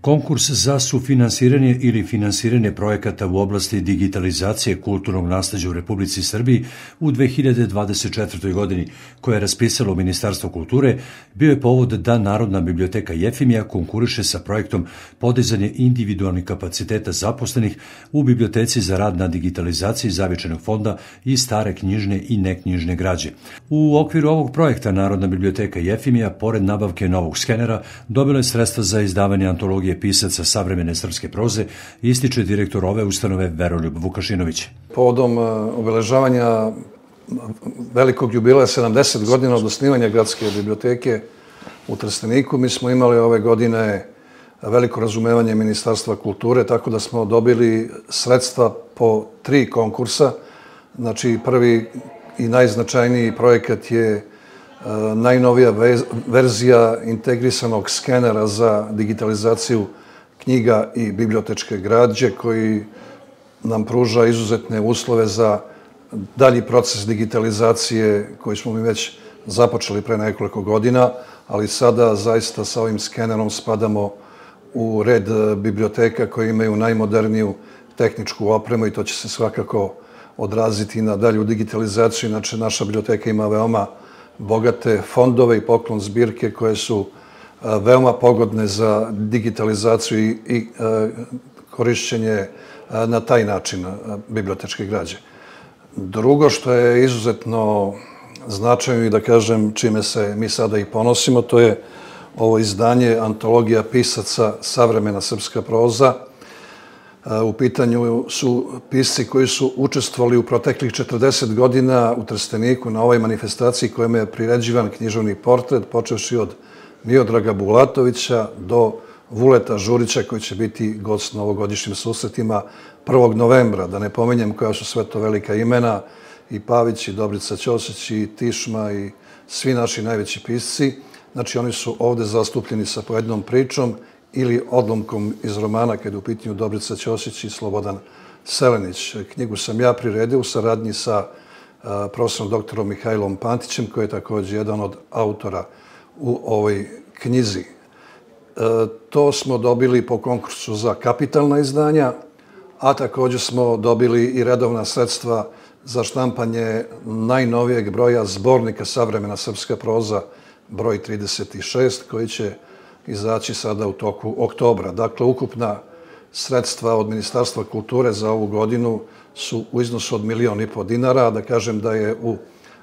Konkurs za sufinansiranje ili finansiranje projekata u oblasti digitalizacije kulturnog nasleđa u Republici Srbiji u 2024. godini, koje je raspisalo Ministarstvo kulture, bio je povod da Narodna biblioteka Jefimija konkuriše sa projektom podizanje individualnih kapaciteta zaposlenih u Biblioteci za rad na digitalizaciji Zavičajnog fonda i stare knjižne i neknjižne građe. U okviru ovog projekta Narodna biblioteka Jefimija, pored nabavke novog skenera, dobila je sredstva za izdavanje antologije pisaca savremene srpske proze, ističe direktor ove ustanove Veroljub Vukašinović. Povodom obeležavanja velikog jubileja 70 godina od osnivanja Gradske biblioteke u Trsteniku, mi smo imali ove godine veliko razumevanje Ministarstva kulture, tako da smo dobili sredstva po 3 konkursa. Znači, prvi i najznačajniji projekat je najnovija verzija integrisanog skenera za digitalizaciju knjiga i bibliotečke građe, koji nam pruža izuzetne uslove za dalji proces digitalizacije koji smo mi već započeli pre nekoliko godina, ali sada zaista sa ovim skenerom spadamo u red biblioteka koje imaju najmoderniju tehničku opremu i to će se svakako odraziti na dalju digitalizaciju. Inače, naša biblioteka ima veoma bogate fondove i poklon zbirke koje su veoma pogodne za digitalizaciju i korišćenje na taj način bibliotečke građe. Drugo što je izuzetno značajno i da kažem čime se mi sada i ponosimo, to je ovo izdanje antologija pisaca savremena srpska proza. U pitanju su pisci koji su učestvovali u proteklih 40 godina u Trsteniku na ovoj manifestaciji kojom je priređivan književni portret, počevši od Miodraga Bulatovića do Vuleta Žurića, koji će biti gost na ovogodišnjim susretima 1. novembra. Da ne pominjem koja su sve to velika imena, i Pavić, i Dobrica Ćosić, i Tišma, i svi naši najveći pisci. Znači, oni su ovde zastupljeni sa pojednom pričom ili odlomkom iz romana, kada je u pitanju Dobrica Ćosić i Slobodan Selenić. Knjigu sam ja priredio u saradnji sa profesorom doktorom Mihajlom Pantićem, koji je također jedan od autora u ovoj knjizi. To smo dobili po konkursu za kapitalna izdanja, a također smo dobili i redovna sredstva za štampanje najnovijeg broja zbornika savremena srpska proza, broj 36, koji će izaći sada u toku oktobra. Dakle, ukupna sredstva od Ministarstva kulture za ovu godinu su u iznosu od 1,5 miliona dinara, a da kažem da je u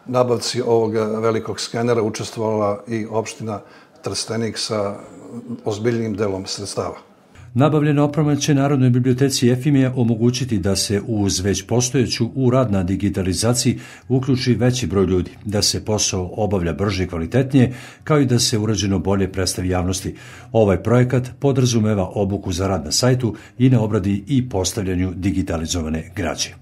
nabavci ovog velikog skenera učestvovala i opština Trstenik sa ozbiljnim delom sredstava. Nabavljena oprema će Narodnoj biblioteci Jefimija omogućiti da se uz već postojeću u rad na digitalizaciji uključi veći broj ljudi, da se posao obavlja brže i kvalitetnije, kao i da se urađeno bolje predstavi javnosti. Ovaj projekat podrazumeva obuku za rad na sajtu i na obradi i postavljanju digitalizovane građe.